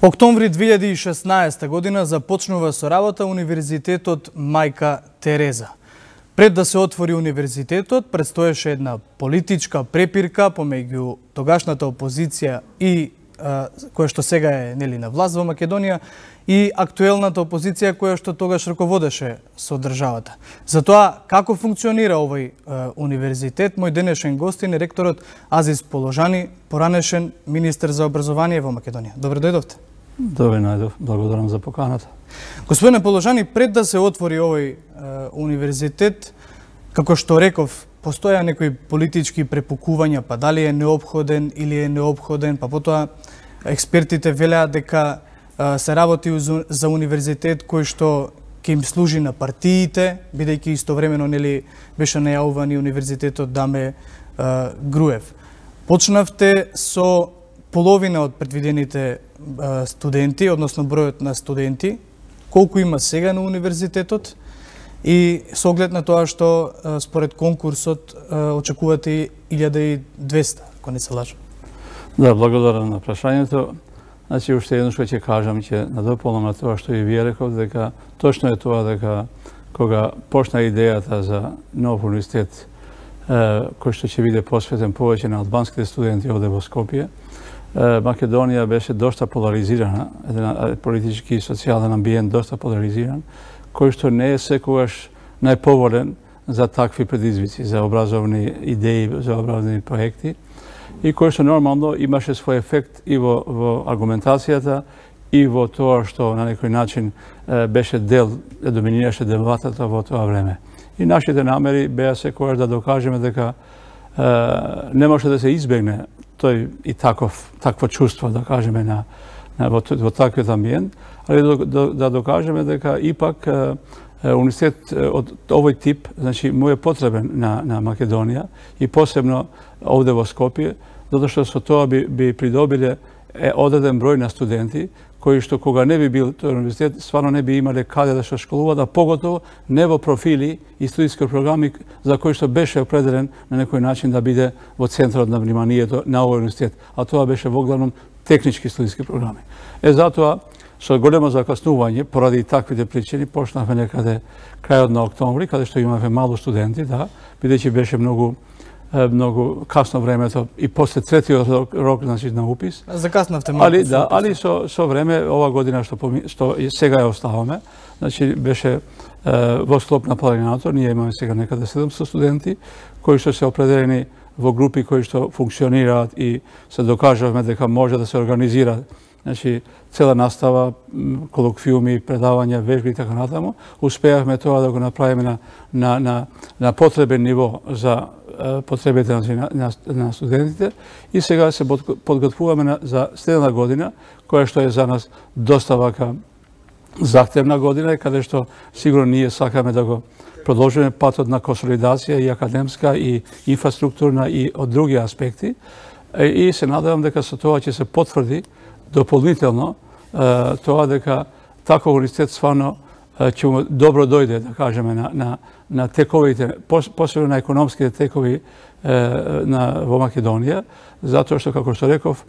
Октомври 2016 година започнува со работа Универзитетот Мајка Тереза. Пред да се отвори универзитетот, предстоеше една политичка препирка помеѓу тогашната опозиција и која што сега е на власт во Македонија и актуелната опозиција која што тогаш раководеше со државата. Затоа како функционира овој универзитет, мој денешен гостин е ректорот Азис Положани, поранешен министер за образование во Македонија. Добре дојдовте. Добре најдов, благодарам за поканата. Господине Положани, пред да се отвори овој универзитет, како што реков, постоја некои политички препукувања, па дали е неопходен или е неопходен, па потоа експертите велеа дека се работи за универзитет кој што ќе им служи на партиите, бидејќи истовремено беше најавуван и универзитетот Даме Груев. Почнавте со половина од предвидените студенти, односно бројот на студенти, колку има сега на универзитетот и со оглед на тоа што според конкурсот очекувате 1200, ако не се лажам. Да, благодарам на прашањето. Значи, уште едно што ќе кажам, ќе надополнам на тоа што и вие реков, дека точно е тоа дека кога почна идејата за нов универзитет кој што ќе биде посветен повеќе на албанските студенти овде во Скопје, Македонија беше доста поларизирана, еден политички и социјален амбиент доста поларизиран, кој што не е секогаш најповолен за такви предизвици, за образовни идеи, за образовни проекти, и кој што нормално имаше свој ефект и во аргументацијата, и во тоа што на некој начин беше доминираше дебатата во тоа време. И нашите намери беа секогаш да докажеме дека не може да се избегне тој и такво чувство, да кажеме, во таквиот амбиент, али да докажеме дека ипак универзитет од овој тип, значи, му е потребен на Македонија и посебно овде во Скопје, затоа што со тоа би придобиле одреден број на студенти кои што кога не би бил тој универзитет, стварно не би имале каде да се школуваат, а поготово не во профили и студиски програми за кои што беше определен на некој начин да биде во центарот на вниманието на овој универзитет, а тоа беше во главном технички студиски програми. Затоа, со големо закаснување, поради таквите причини, почнавме некаде крајот на октомври, каде што имавме мало студенти, да, бидејќи беше многу касно времето и после третиот рок, значи, на упис. Закаснавте малку. Али со време, ова година што сега ја оставаме, значи беше во склоп на планината, ние имаме сега некаде 700 студенти, кои што се определени во групи кои што функционираат и се докажавме дека може да се организира, значи, цела настава, колоквиуми, предавања, вежби и така натаму. Успеавме тоа да го направиме на потребен ниво за потребите на студентите и сега се подготвуваме за следна година, која што е за нас доста вака захтевна година, каде што сигурно ние сакаме да го продолжиме патот на консолидација и академска, и инфраструктурна, и од други аспекти. И се надевам дека со тоа ќе се потврди дополнително тоа дека таков универзитет стварно ќе му добро дојде, да кажеме, на тековите, посебно на економските текови во Македонија, затоа што, како што реков,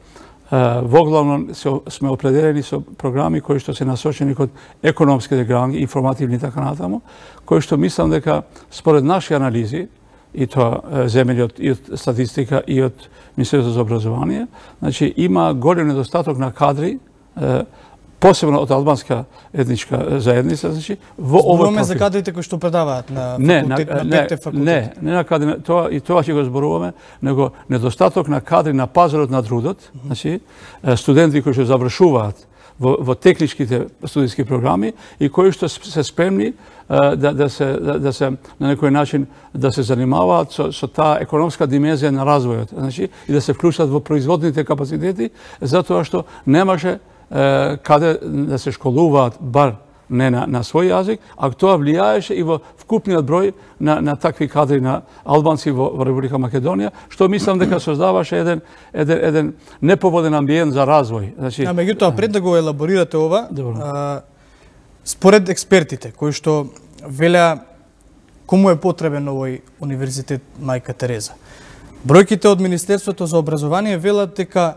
во главно сме определени со програми кои што се насочени кон економските грани, информативни и така натаму, кои што мислам дека според наши анализи, и тоа земени и од статистика и од Министерството за образование, значи има голем недостаток на кадри, посебно од албанска етничка заедница, значи во овој профил. Зборуваме за кадрите кои што предаваат на петте факултети. Не на кадри, и тоа ќе го зборуваме, него недостаток на кадри на пазарот на трудот, значи студенти кои што завршуваат во техничките студиски програми и кои што се спремни да се на некој начин да се занимаваат со таа економска димензија на развојот, значи и да се вклучат во производните капацитети, затоа што немаше каде да се школуваат бар не на свој јазик, а тоа влијаеше и во вкупниот број на такви кадри на албанци во Република Македонија, што мислам дека создаваше еден неповоден амбиент за развој. Значи, меѓутоа, пред да го елаборирате ова, според експертите кои што велеа кому е потребен овој универзитет Мајка Тереза, бројките од Министерството за образование велат дека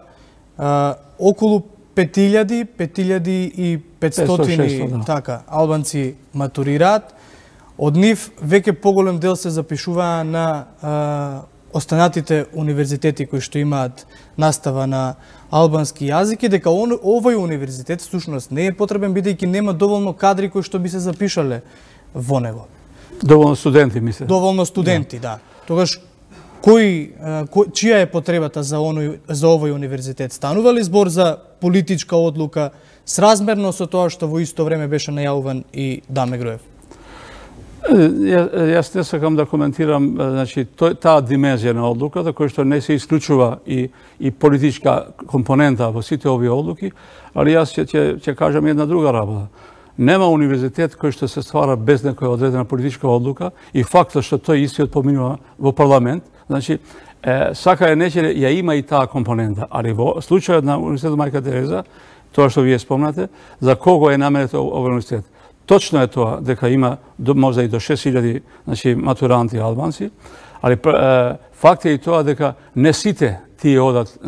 околу 5500 така албанци матурираат. Од нив веќе поголем дел се запишуваа на останатите универзитети кои што имаат настава на албански јазик и дека овој универзитет всушност не е потребен бидејќи нема доволно кадри кои што би се запишале во него. Доволно студенти, мисле. Доволно студенти, да. Тогаш чија е потребата за овој универзитет? Станува ли збор за политичка одлука сразмерно со тоа што во исто време беше најавуван и Даме Груев? Јас не сакам да коментирам таа димензија на одлуката, која што не се исклучува и политичка компонента во сите овие одлуки, али јас ќе кажам една друга работа. Нема универзитет кој што се ствара без некоја одредена политичка одлука и фактот што тој истиот поминува во парламент, сака е нече ја има и таа компонента, али во случајот на Универзитетот Мајка Тереза, тоа што вие спомнате, за кого е наменет овој универзитет. Точно е тоа дека има можда и до 6000 матуранти албанци, али факт е и тоа дека не сите тие одат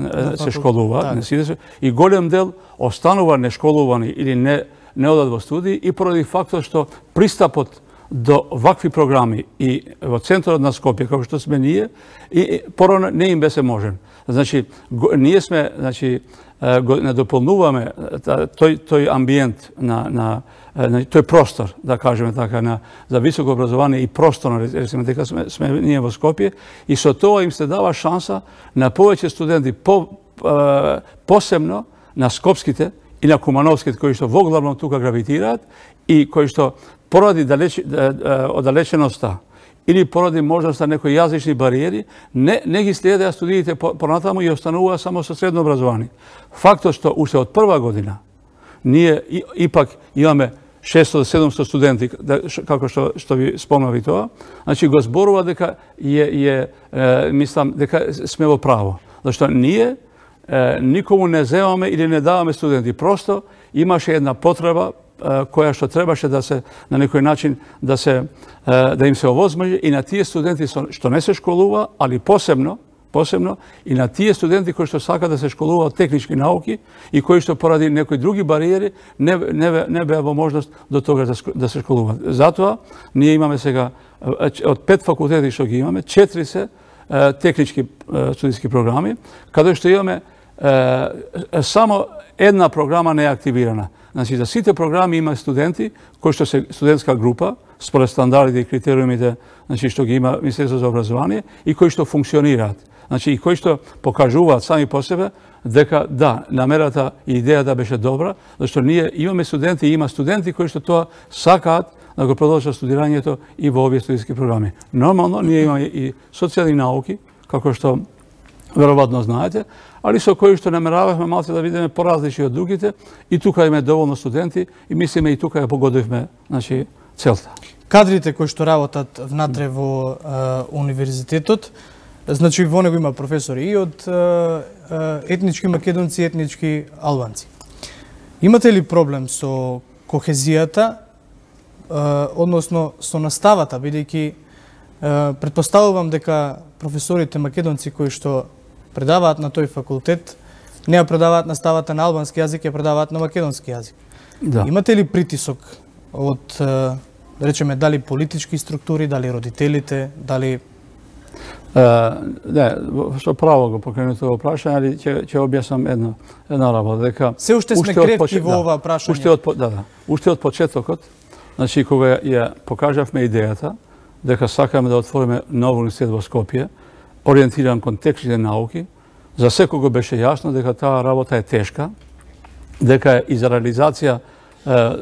се школуваат, и голем дел останува нешколувани или не одат во студии и поради фактот што пристапот до вакви програми и во центарот на Скопје, како што сме ние, и порано не им беше можен. Значи, ние сме, не дополнуваме тој амбиент тој простор, да кажеме така, за високо образование и просторно, речеме дека сме ние во Скопје, и со тоа им се дава шанса на повеќе студенти, посебно на скопските и на кумановските, кои што воглавно тука гравитираат и кои што поради оддалеченоста или поради можноста некои јазични бариери, не ги следеа студиите понатаму и остануваа само со средно образование. Фактот што уште од прва година ние ипак имаме 600-700 студенти, како што ви спомнави тоа, значи го зборува дека мислам дека сме во право. Зашто ние никому не земаме или не даваме студенти. Просто имаше една потреба која што требаше да се на некој начин да им се овозможи и на тие студенти што не се школува, али посебно и на тие студенти кои што сакаат да се школуваат технички науки и кои што поради некои други бариери не беа во можност до тога да се школуваат. Затоа ние имаме сега од 5 факултети што ги имаме, 4 се технички студиски програми, каде што имаме само една програма не е активирана. Значи, за сите програми има студенти кои што се студентска група, според стандардите и критериумите што ги има Министерството за образование и кои што функционираат. Значи, и кои што покажуваат сами по себе дека да, намерата и идејата беше добра, зашто ние имаме студенти и има студенти кои што тоа сакаат да го продолжат студирањето и во овие студиски програми. Нормално, ние имаме и социјални науки, како што веројатно знаете, али со кои што намерававме малку да видиме поразлични од другите и тука имаме доволно студенти и мислиме и тука ја погодивме целта. Кадрите кои што работат внатре во универзитетот, значи во него има професори и од етнички македонци и етнички албанци. Имате ли проблем со кохезијата, односно со наставата, бидејќи претпоставувам дека професорите македонци кои што предаваат на тој факултет не ја предаваат наставата на албански јазик, ја предаваат на македонски јазик. Да. Имате ли притисок од, да речеме, дали политички структури, дали родителите, дали... Не, со право го покренете во прашање, али ќе објаснам една работа, дека... Се уште сме кревки во ова прашање. Уште од почетокот, значи кога ја покажавме идејата, дека сакаме да отвориме нов универзитет во Скопје, ориентиран кон технички науки, за секого беше јасно дека таа работа е тешка, дека е и за реализација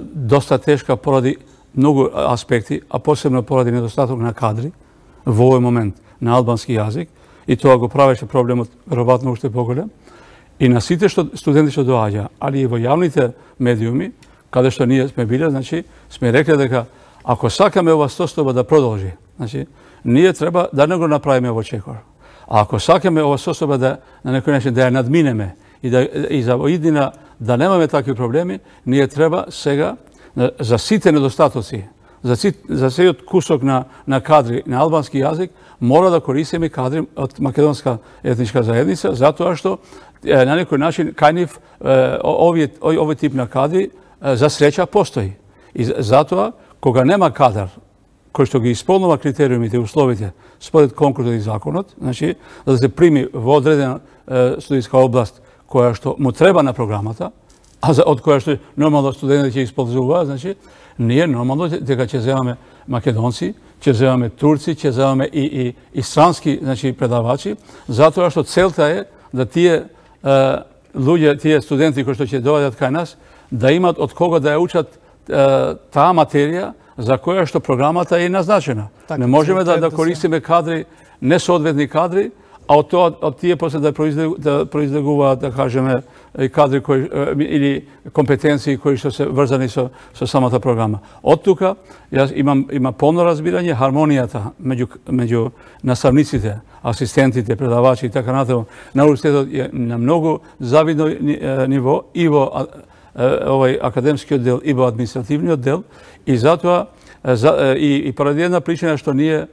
доста тешка поради многу аспекти, а посебно поради недостаток на кадри во овој момент на албански јазик, и тоа го правеше проблемот веројатно уште поголем. И на сите студенти што доаѓа, али и во јавните медиуми, каде што ние сме биле, значи, сме рекле дека ако сакаме ова состојба да продолжи, значи, ние треба да не го направиме во чекор. А ако сакаме ова состојба да на некој начин да ја надминеме и за иднина да немаме такви проблеми, ние треба сега за сите недостатоци, за целиот кусок на кадри на албански јазик, мора да користиме кадри од македонска етничка заедница, затоа што на некој начин кај нив овој тип на кадри за среќа постои. И затоа, кога нема кадар кој што ги исполнува критериумите и условите според конкурсот и законот, значи, за да се прими во одредена студијска област која што му треба на програмата, од која што нормално студентите ќе исползуваат, значи, ние нормално дека ќе земаме македонци, ќе земаме турци, ќе земаме и странски, значи, предавачи, затоа што целта е да тие луѓе, тие студенти кои што ќе доаѓат кај нас, да имат од кого да ја учат таа материја за која што програмата е назначена. Не можеме да користиме кадри, несоодветни кадри, а од тие после да произлегуваат, да кажеме, кадри или компетенции кои што се врзани со самата програма. Од тука, јас имам полно разбирање, хармонијата меѓу наставниците, асистентите, предавачи и така натаму на университетот е на многу завидно ниво и во овој академскиот дел и во административниот дел, и затоа и поради една причина што ние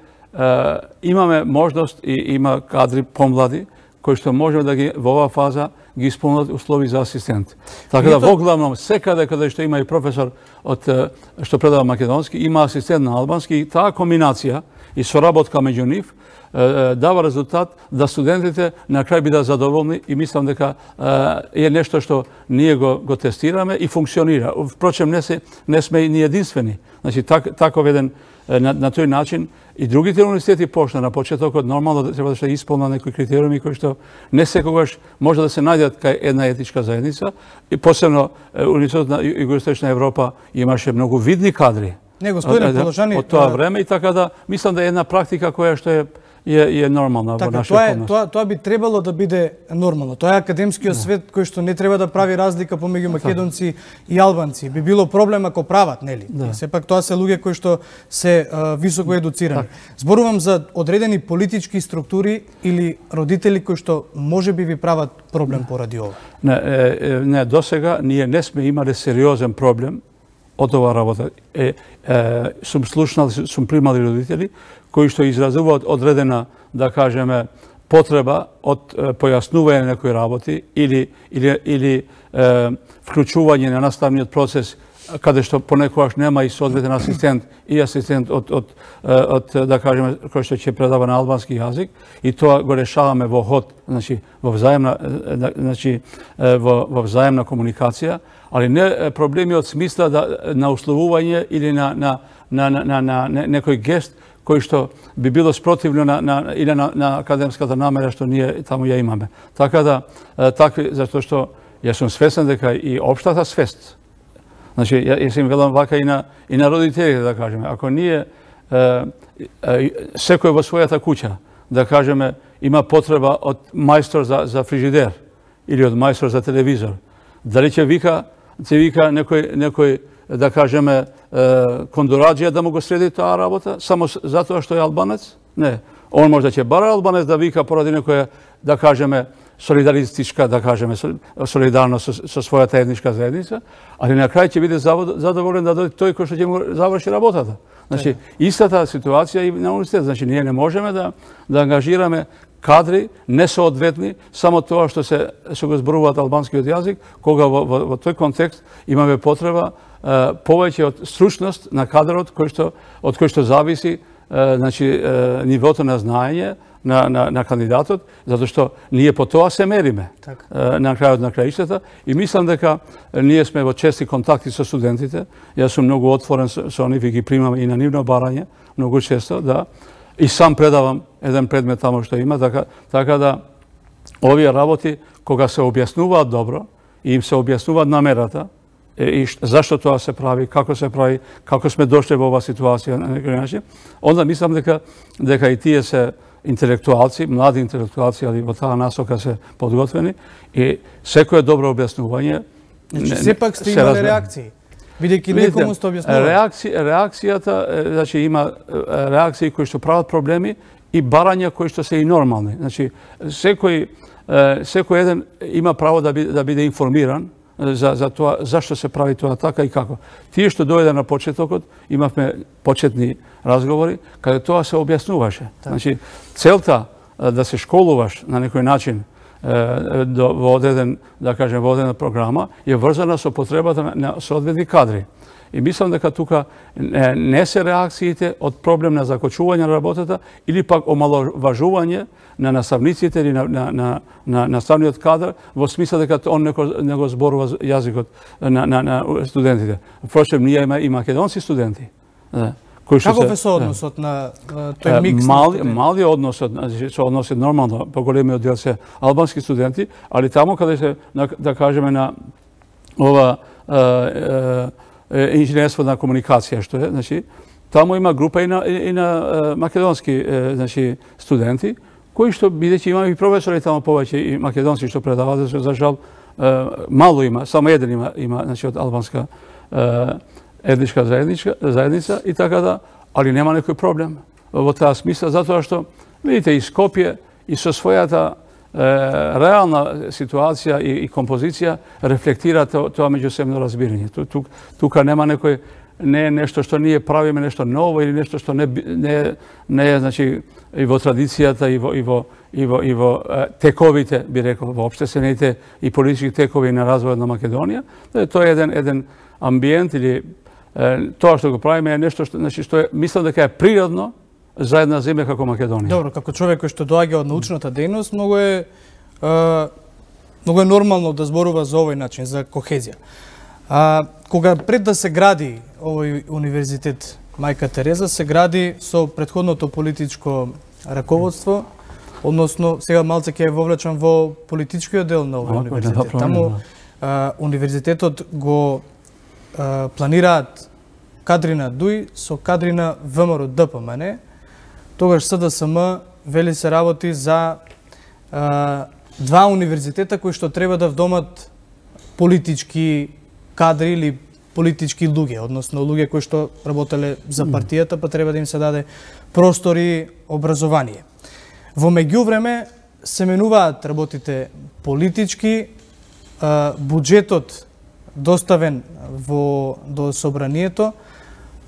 имаме можност и има кадри помлади кои што можеме да ги во оваа фаза ги исполнат услови за асистент. Така да во главном секаде каде што има и професор што предава македонски, има асистент на албански, и таа комбинација и соработка меѓу нив дава резултат да студентите на крај бидат задоволни, и мислам дека е нешто што ние го тестираме и функционира. Впрочем, не сме и ни единствени. Значи, таков еден на тој начин и другите универзитети почна на почетокот нормално да треба да се исполнат некои критериуми кои што не секогаш може да се најдат кај една етничка заедница, и посебно Универзитетот на Југоисточна Европа имаше многу видни кадри од тоа време, и така да мислам да е една практика која што е нормална во нашиот однос. Тоа би требало да биде нормално. Тоа е академскиот свет кој што не треба да прави разлика помеѓу македонци и албанци. Би било проблем ако прават, нели? Сепак тоа се луѓе кои што се високо едуцирани. Зборувам за одредени политички структури или родители кои што можеби ви прават проблем поради ова. Не, досега ние не сме имале сериозен проблем од оваа работа. Сум слушнал, сум примали родители кои што изразуваат одредена, да кажеме, потреба од појаснување на некои работи или вклучување на наставниот процес каде што понекогаш нема и соодветен асистент од да кажеме, кој што ќе предава на албански јазик, и тоа го решаваме во ход, значи во взаемна комуникација, али не проблеми од смисла на условување или на некој гест кој што би било спротивно или на академската намера што ние таму ја имаме. Така да, затоа што јас сум свесен дека и општата свест, значи, јас им велам вака и на родителите, да кажеме, ако ние секој во својата куќа, да кажеме, има потреба од мајстор за фрижидер или од мајстор за телевизор, дали ќе вика некој, да кажеме, кондораџија да му го среди таа работа, само затоа што е албанец? Не. Он може да ќе бара албанец да вика поради некоја, да кажеме, солидаристичка, да кажеме, солидарно со својата етничка заедница, али на крај ќе биде задоволен да дојде тој кој што ќе му заврши работата. Значи, истата ситуација и на университет. Значи, ние не можеме да ангажираме кадри несоодветни само тоа што го зборуваат албанскиот јазик, кога во тој контекст имаме потреба повеќе од стручност на кадрот од кој што зависи, значи, нивото на знаење на кандидатот, затоа што ние по тоа се мериме на крајот на краиштата, и мислам дека ние сме во чести контакти со студентите. Јас сум многу отворен со нив и ги примам и на нивно барање многу често, да, и сам предавам еден предмет таму што има, така да овие работи кога се објаснуваат добро и им се објаснуваат намерата и зашто тоа се прави, како сме дошли во оваа ситуација на некој начин, онда мислам дека и тие се интелектуалци, млади интелектуалци, али во таа насока се подготвени, и секој добро објаснување. Значи, сепак сте имали реакции, бидејќи некому сте објаснували. Реакцијата, значи, има реакции кои што прават проблеми и барања кои што се и нормални. Значи, секој еден има право да биде информиран за тоа зашто се прави тоа така и како. Тие што дојде на почетокот, имавме почетни разговори каде тоа се објаснуваше. Значи, целта да се школуваш на некој начин во одреден, да кажем, во одредена програма е врзана со потребата на соодветни кадри. И мислам дека тука не се реакциите од проблем на закочување на работата или пак омаловажување на наставниците или на наставниот кадар во смисла дека он не го зборува јазикот на студентите. Впрочем, ние има и македонски студенти. Каков е соодносот на тој микс? Мали односот, соодносот нормално, поголемиот дел се албански студенти, али таму каде се, да кажеме, на ова инженерство на комуникација, што е, значи, таму има група и на македонски, значи, студенти, кои што, бидејќи има и професори таму повеќе и македонски што предаваат, за жал, мало има, само еден има, значи, од албанска етничка заедница и така да, али нема некој проблем во таа смисла, затоа што, видите, и Скопје и со својата реална ситуација и композиција рефлектира тоа меѓусебно разбирање. Тука нема некој, не е нешто што ние правиме нешто ново или нешто што не е, значи, и во традицијата и во тековите, би рекол, во општествените и политички текови на развојот на Македонија. Тоа е еден амбиент или тоа што го правиме е нешто што, значи, што мислам дека е природно за една земја како Македонија. Добро, како човек кој што доаѓа од научната дејност, многу е нормално да зборува за овој начин, за кохезија. Кога пред да се гради овој универзитет Мајка Тереза, се гради со претходното политичко раководство, односно сега малце ќе ја вовлечам во политичкиот дел на овој универзитет. Таму универзитетот го планираат кадри на ДУИ со кадри на ВМРО ДПМН. Тогаш СДСМ вели се работи за два универзитета кои што треба да вдомат политички кадри или политички луѓе, односно луѓе кои што работеле за партијата, па треба да им се даде простор и образование. Во меѓувреме се менуваат работите политички, буџетот доставен до собранието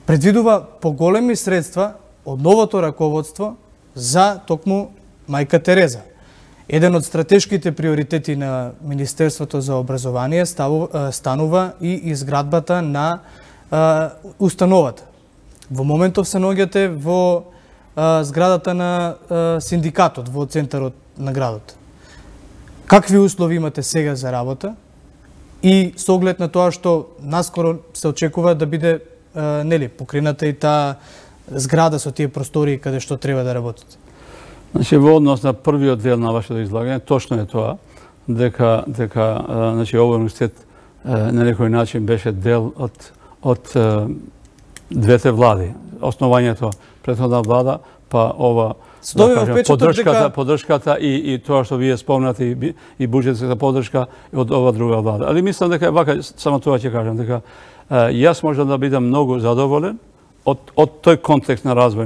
предвидува поголеми средства од новото раководство за токму Мајка Тереза. Еден од стратешките приоритети на Министерството за образование станува и изградбата на установата. Во моментов се наоѓате во зградата на синдикатот, во центарот на градот. Какви услови имате сега за работа и со оглед на тоа што наскоро се очекува да биде покрината и таа зграда со тие простории каде што треба да работите? Значи, во однос на првиот дел на вашето излагање, точно е тоа, дека значи, овој универзитет на некој начин беше дел од двете влади. Основањето претходна влада, па ова поддршката и тоа што вие спомнате и буџетската поддршка од ова друга влада. Али мислам дека вака само тоа ќе кажам, дека јас можам да бидам многу задоволен од тој контекст на развој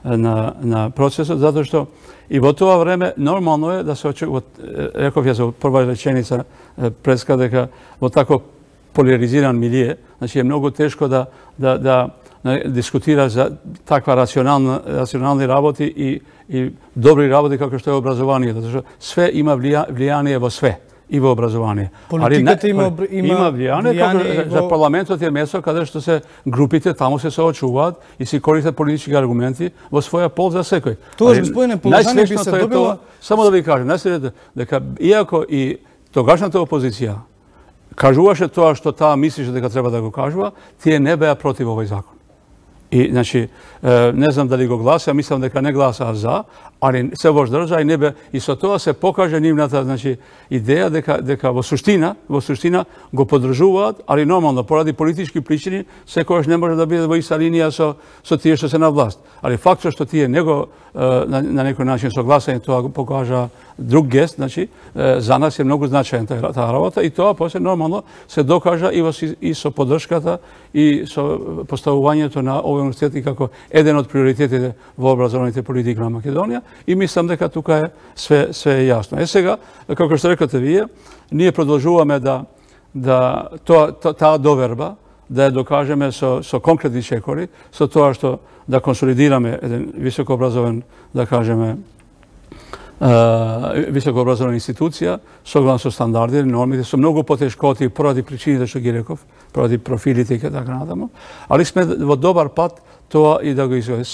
на процесот, затоа што и во тоа време нормално е да се очекува, реков ја за прва реченица преска, дека во тако поляризиран милие, значи е многу тешко да дискутира за таква рационални работи и добри работи како што е образованието, затоа што све има влијание во све. И во образование. Политиката има влијание за парламентот е место каде што се групите таму се соочуваат и се користат политички аргументи во своја полза секој. Тоа господине положение би се добило. Само да ви кажам, најсреќното дека иако и тогашната опозиција кажуваше тоа што таа мислеше дека треба да го кажува, тие не беа против овој закон. И, значи, не знам дали го гласа, мислам дека не гласаа за, али се воздржа и не бе, и со тоа се покаже нивната, значи, идеја дека во суштина го поддржуваат, али нормално, поради политички причини, секојаш не може да биде во иста линија со тие што се на власт. Али фактот што тие него на некој начин согласени, тоа го покажа друг гест, значи, за нас е многу значајна таа работа и тоа после нормално се докажа и со поддршката и со поставувањето на овој овој универзитет и како еден од приоритетите во образовните политики на Македонија и мислам дека тука е све е јасно. Сега, како што рекате вие, ние продолжуваме да таа доверба да ја докажеме со конкретни чекори, со тоа што да консолидираме еден високообразован, да кажеме, високообразовна институција, согласно со стандарди, нормите, со многу потешкоти поради причините што ги реков, поради профилите и така натаму, али сме во добар пат тоа и да го изведе.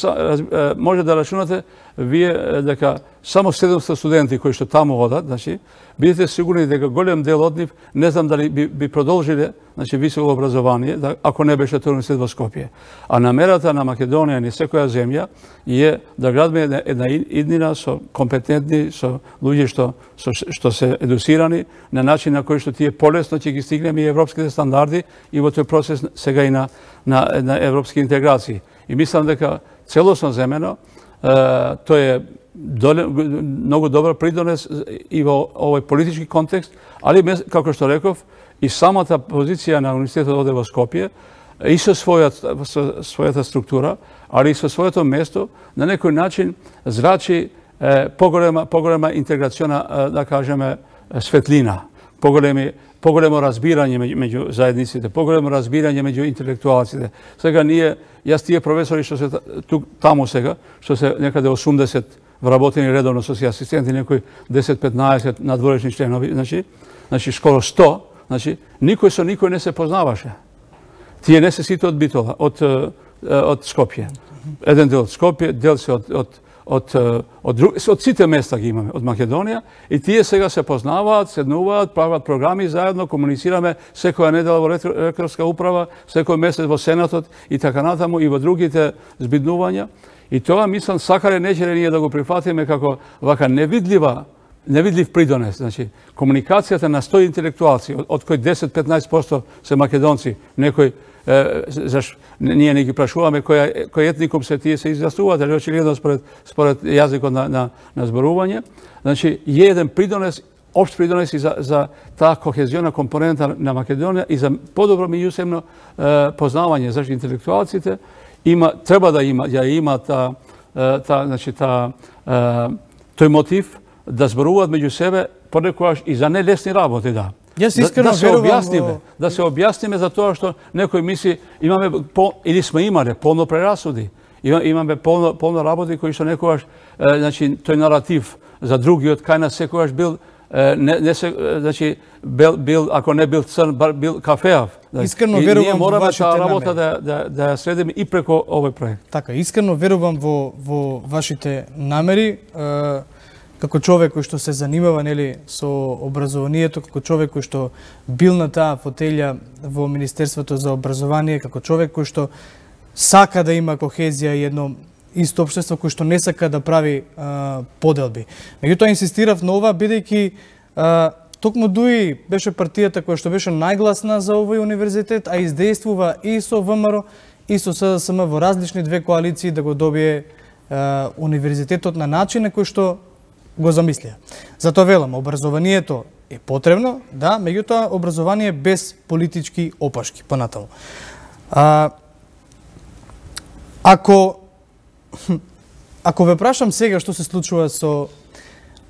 Може да рачунате вие дека само 700 студенти кои што таму одат, значи, бидете сигурни дека голем дел од нив не знам дали би продолжиле, значи, високо образование, ако не беше тој универзитет во Скопје. А намерата на Македонија и секоја земја е да градиме една иднина со компетентни, со луѓе што се едуцирани на начин на кој што тие полесно ќе ги стигнеме и европските стандарди и во тој процес сега и на европски интеграции. И мислам дека целосно земено тој е многу добар придонес и во овој политички контекст, али како што реков, и самата позиција на универзитетот оде во Скопје и со својата структура, али и со своето место, на некој начин зрачи поголема интеграциона, да кажеме, светлина, поголемо разбирање меѓу заедниците, поголемо разбирање меѓу интелектуалците. Сега ние, јас тие професори што се таму сега, што се некаде 80 вработени редовно со си асистенти, некои 10-15 надворешни членови, значи скоро 100, значи никој со никој не се познаваше. Тие не се сите од Битола, од Скопје. Еден дел од Скопје, дел се од сите места ги имаме, од Македонија, и тие сега се познаваат, седнуваат, прават програми заедно, комуницираме секоја недела во ректорска управа, секој месец во Сенатот и така натаму и во другите збиднувања. И тоа, мислам, сакале нечеле ние да го прифатиме како вака невидлив придонес. Значи, комуникацијата на 100 интелектуалци, од кои 10-15% се македонци, некој, ние не ги прашуваме кој етникум се тие се изјаснуваат, али очигледно според јазикот на зборување. Значи, е еден придонес, општ придонес и за таа кохезиона компонента на Македонија и за подобро меѓусебно познавање. Зашто интелектуалците треба да има тој мотив да зборуваат меѓу себе понекогаш и за нелесни работи, да. Јас искрено верувам да се објасниме за тоа што некој мисли или сме имале полно прерасуди. Имаме полно работи кои што некогаш, значи, тој наратив за другиот кај нас секогаш бил значи, ако не бил црн, бил кафеав. Искрено верувам во вашите намери. Ние мораме таа работа да ја следиме и преку овој проект. Така, искрено верувам во вашите намери, како човек кој што се занимава, нели, со образованието, како човек кој што бил на таа фотелја во Министерството за образование, како човек кој што сака да има кохезија и едно исто општество кој што не сака да прави поделби. Меѓутоа инсистирав на ова бидејќи токму ДУИ беше партијата која што беше најгласна за овој универзитет, а издействува и со ВМРО и со СДСМ во различни две коалиции да го добие универзитетот на начин на кој што го замислија. Затоа велам, образованието е потребно, да, меѓутоа образование без политички опашки, понатаму. Ако ве прашам сега што се случува со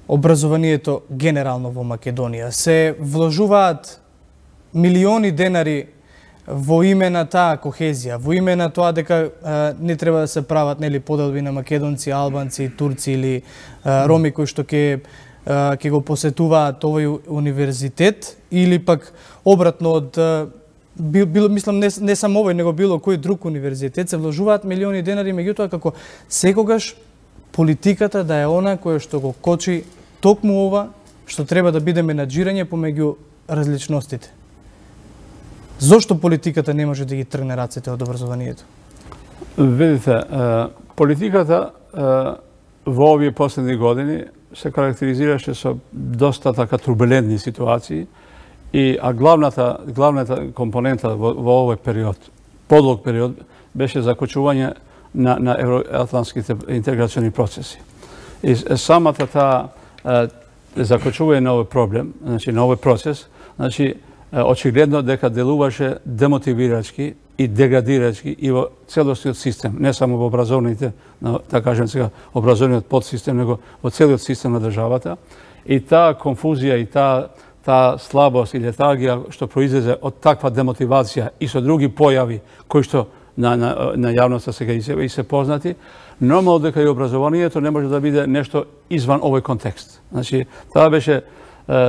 образованието генерално во Македонија, се вложуваат милиони денари во име на таа кохезија, во име на тоа дека не треба да се прават, нели, поделби на македонци, албанци, турци или роми кои што ќе го посетуваат овој универзитет, или пак обратно од мислам не само овој, него било кој друг универзитет, се вложуваат милиони денари, меѓутоа како секогаш политиката да е она која што го кочи токму ова што треба да биде менаџирање помеѓу различностите. Зошто политиката не може да ги тргне рацете од образованието? Видите, политиката во овие последни години се карактеризираше со доста така турбулентни ситуации, а главната компонента во овој период, подлог период, беше закочување на евроатлантските интеграциони процеси. И самата таа закочување на овој проблем, значи на овој процес, значи очигледно дека делуваше демотивирачки и деградирачки и во целостниот систем, не само во образовните, да кажем сега, образовниот подсистем, него во целиот систем на државата. И таа конфузија и таа слабост и летаргија што произлезе од таква демотивација и со други појави кои што на јавноста сега и се познати, нормално дека и образованието не може да биде нешто изван овој контекст. Значи, таа беше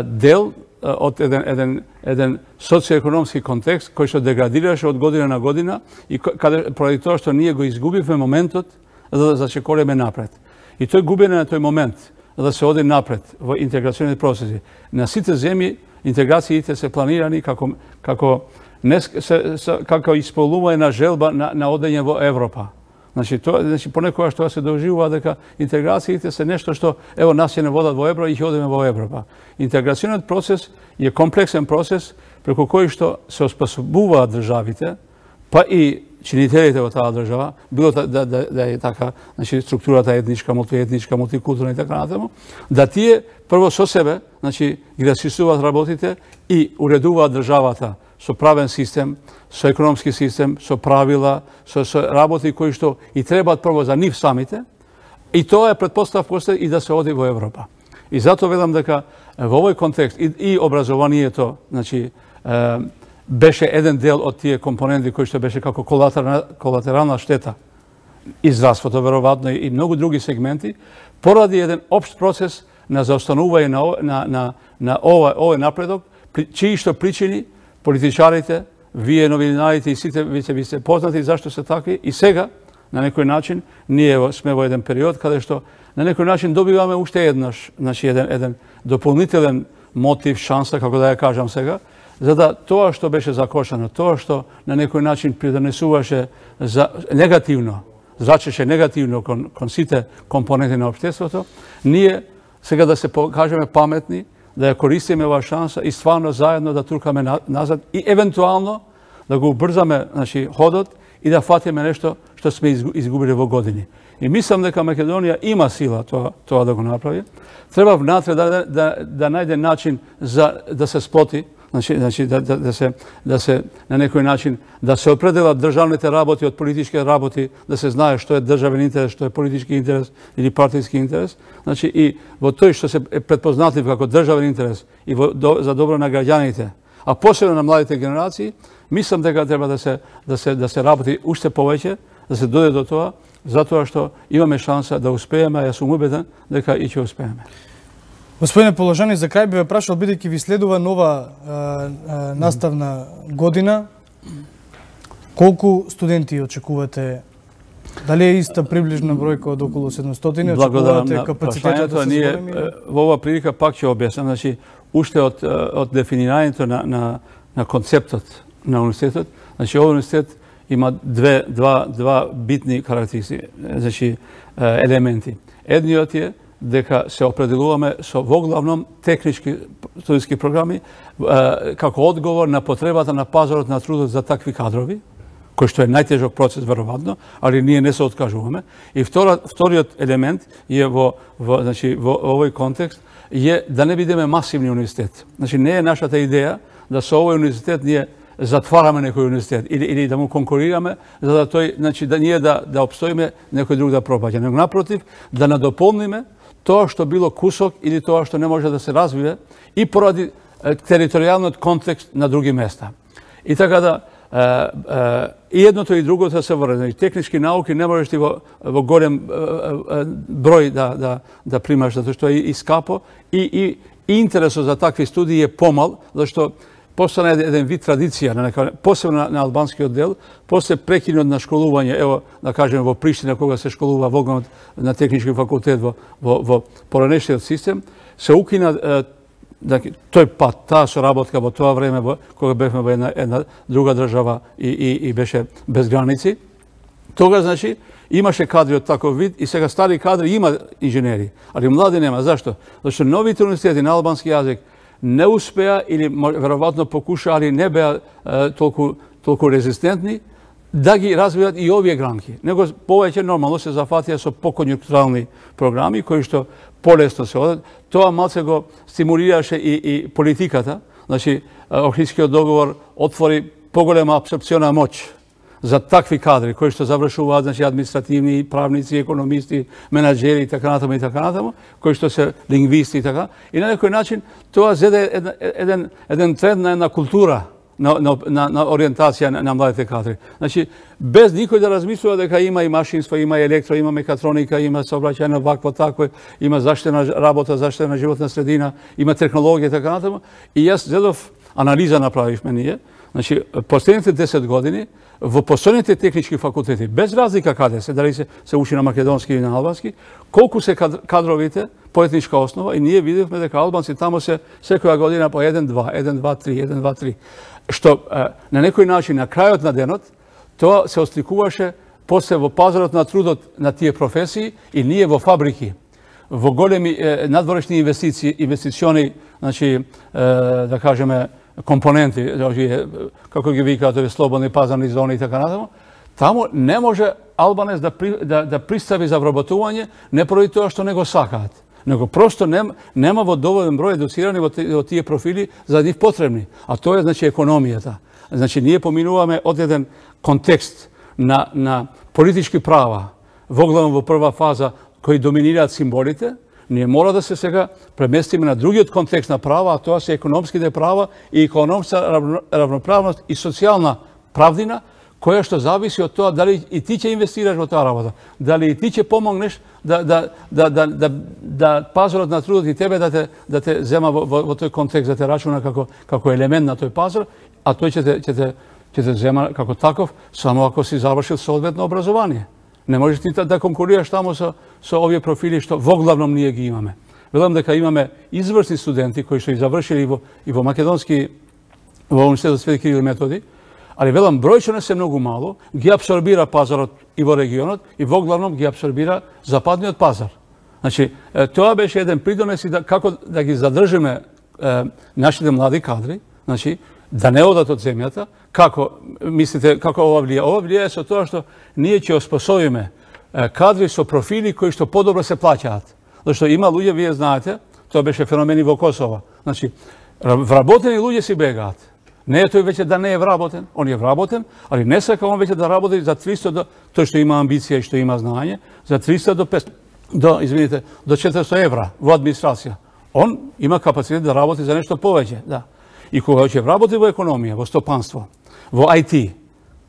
дел од еден социоекономски контекст кој што деградираше од година на година и каде поради тоа што ние го изгубивме моментот за да зачекореме напред. И тој губење на тој момент да се оди напред во интеграционите процеси. На сите земји интеграциите се планирани како исполнување на желба на одење во Европа. Значи понекогаш тоа се доживува дека интеграциите се нешто што ево нас ќе не водат во Европа и ќе одиме во Европа. Интеграциониот процес е комплексен процес преку кој што се оспособуваат државите, па и чинителите во таа држава, било да е така, значи структурата етничка, мултиетничка, мултикултурна и така натаму, да тие прво со себе, значи ги расчистуваат работите и уредуваат државата со правен систем, со економски систем, со правила, со работи кои што и требаат прво за нив самите, и тоа е предпоставка и да се оди во Европа. И затоа велам дека во овој контекст и образованието, значи беше еден дел од тие компоненти кои што беше како колатерална штета и здравството веројатно и многу други сегменти, поради еден општ процес на заостанување на овој напредок, чии што причини политичарите, вие новинарите и сите веќе би се познати зашто се такви и сега на некој начин ние сме во еден период каде што на некој начин добиваме уште еднаш, значи еден дополнителен мотив, шанса, како да ја кажам сега, за да тоа што беше закошено, тоа што на некој начин придонесуваше за негативно, зрачеше негативно кон сите компоненти на општеството, ние сега да се покажеме паметни, да ја користиме оваа шанса и стварно заедно да трукаме назад и евентуално да го убрзаме, значи, ходот и да фатиме нешто што сме изгубили во години. И мислам дека Македонија има сила тоа да го направи. Треба внатре да најде начин за да се сплоти, значи да се на некој начин да се определат државните работи од политички работи, да се знае што е државен интерес, што е политички интерес или партиски интерес. Значи и во тој што се е предпознатив како државен интерес и за добро на граѓаните, а посебно на младите генерации, мислам дека треба да се работи уште повеќе, да се дојде до тоа, затоа што имаме шанса да успееме, а јас сум убеден дека и ќе успееме. Господине Положани, за крај би ве прашал, бидејќи ви следува нова наставна година, колку студенти очекувате? Дали е иста приближна бројка од околу 700? Благодарам на прашањето. Ние во оваа прилика пак ќе објаснам, значи уште од дефинирањето на концептот на университетот, значи овој университет има два битни карактеристики, значи елементи. Едниот е дека се определуваме со воглавном технички студиски програми како одговор на потребата на пазарот на трудот за такви кадрови, кој што е најтежок процес веројатно, али ние не се откажуваме. И вториот елемент е во овој контекст е да не бидеме масивни универзитет. Значи не е нашата идеја да со овој универзитет ние затвараме некој универзитет или да му конкурираме за да тој, значи да ние да опстоиме, некој друг да пропаѓа. Но напротив, да надополниме тоа што било кусок или тоа што не може да се развие и поради територијалниот контекст на други места. И така да и едното и другото се врзе. Технички науки не можеш ти во голем број да примаш, затоа што е и скапо и интересот за такви студии е помал, зашто постана еден вид традиција, посебно на албанскиот дел, после прекинот на школување, ево, да кажеме, во Приштина, кога се школува во на технички факултет во поранешниот систем, се укина тој пат, таа соработка во тоа време, кога бевме во една друга држава и беше без граници. Тога, значи, имаше кадри од таков вид и сега стари кадри има инженери, али млади нема. Зашто? Зашто новите универзитети на албански јазик не успеа или веројатно покуша, али не беа толку резистентни да ги развијат и овие гранки. Него повеќе нормално се зафатија со поконјунктурални програми кои што полесно се одат. Тоа малце го стимулираше и политиката. Значи, Охридскиот договор отвори поголема абсорпциона моќ за такви кадри кои што завршуваат, значи административни, правници, економисти, менаџери и така натаму, кои што се лингвисти и така. И на некој начин тоа зеде еден тренд на една култура на ориентација на младите кадри. Значи, без никој да размислува дека има и машинство, има и електро, има мекатроника, има сообраќајно вакво такво, има заштитена работа, заштитена животна средина, има технологија и така натаму. И јас зедов анализа направивме ние. Значи, последните 10 години во постојните технички факултети, без разлика каде се, дали се учи на македонски или на албански, колку се кадровите по етничка основа, и ние видевме дека албанци тамо се секоја година по 1-2, што на некој начин на крајот на денот тоа се осликуваше после во пазарот на трудот на тие професии и ние во фабрики, во големи надворешни инвестициони, значи да кажеме компоненти, како ги викаат овие слободни пазарни зони и така натаму, таму не може албанец да пристави за вработување не поради тоа што не го сакаат, него просто нема во доволен број едуцирани во тие профили за нив потребни. А тоа е, значи, економијата. Значи, ние поминуваме од еден контекст на политички права, воглавно во прва фаза, кои доминираат символите, ние мора да се сега преместиме на другиот контекст на права, а тоа се економските права и економска равноправност и социјална правдина, која што зависи од тоа дали и ти ќе инвестираш во таа работа, дали и ти ќе помогнеш да пазарот на трудот и тебе да те зема во тој контекст, да те рачуна како елемент на тој пазар, а тој ќе те зема како таков само ако си завршил соодветно образование. Не можеш ти да конкурираш таму со овие профили што воглавном ние ги имаме. Велам дека имаме изврсни студенти кои што и завршили и во македонски, во Универзитетот Свети Кирил и Методи, али велам бројчено се многу мало, ги апсорбира пазарот и во регионот и воглавном ги апсорбира западниот пазар. Значи, тоа беше еден придонес и како да ги задржиме нашите млади кадри, значи, да не одат од земјата. Како мислите, како ова влија? Ова влија со тоа што ние ќе оспособиме кадри со профили кои што подобро се плаќаат. Зашто има луѓе, вие знаете, тоа беше феномен и во Косово. Значи, вработени луѓе си бегаат. Не е тој веќе да не е вработен, он е вработен, али не сака он веќе да работи за 300 до, тој што има амбиција и што има знаење, за 300 до 500, до 400 евра во администрација. Он има капацитет да работи за нешто повеќе, да. И кога ќе работи во економија, во стопанство, во IT,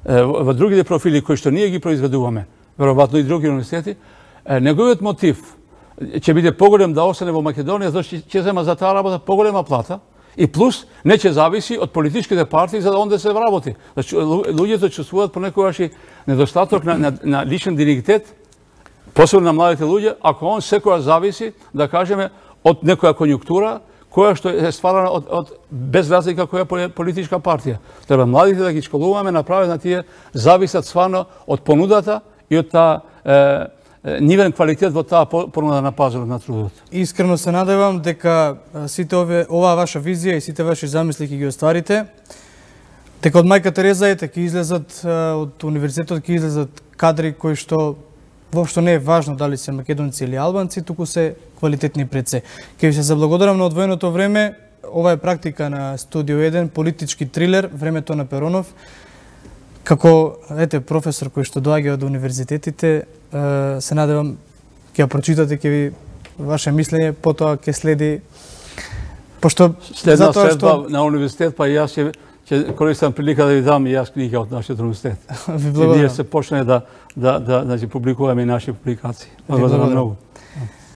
во другите профили кои што ние ги произведуваме, веројатно и други универзитети, неговиот мотив ќе биде поголем да остане во Македонија, зашто ќе зема за таа работа поголема плата, и плюс не ќе зависи од политичките партии за да онде се вработи. Значи, луѓето чувствуваат понекогаш и недостаток на личен дигнитет, посебно на младите луѓе, ако он секоја зависи, да кажеме, од некоја конјунктура, која што е стварана од без разлика која е политичка партија. Треба младите да ги школуваме, направи на тие зависат стварно од понудата и од таа нивен квалитет во таа понуда на пазарот на трудот. Искрено се надевам дека сите оваа ваша визија и сите ваши замисли ќе ги остварите, дека од мајка Тереза ќе излезат од универзитетот, ќе излезат кадри кои што воопшто не е важно дали се македонци или албанци, туку се квалитетни пред се. Ќе ви се заблагодарам на одвоеното време. Ова е практика на Студио 1, политички трилер, времето на Перонов. Како професор кој што доаѓа од универзитетите, се надевам ќе ја прочитате, ќе ви ваше мислење, потоа ќе следи, пошто следна следба на универзитет, па и јас ќе користам прилика да ви дам и јас книга од нашиот универзитет. Ви благодарам. Ние се почне да публикуваме и наши публикации. Благодарам многу.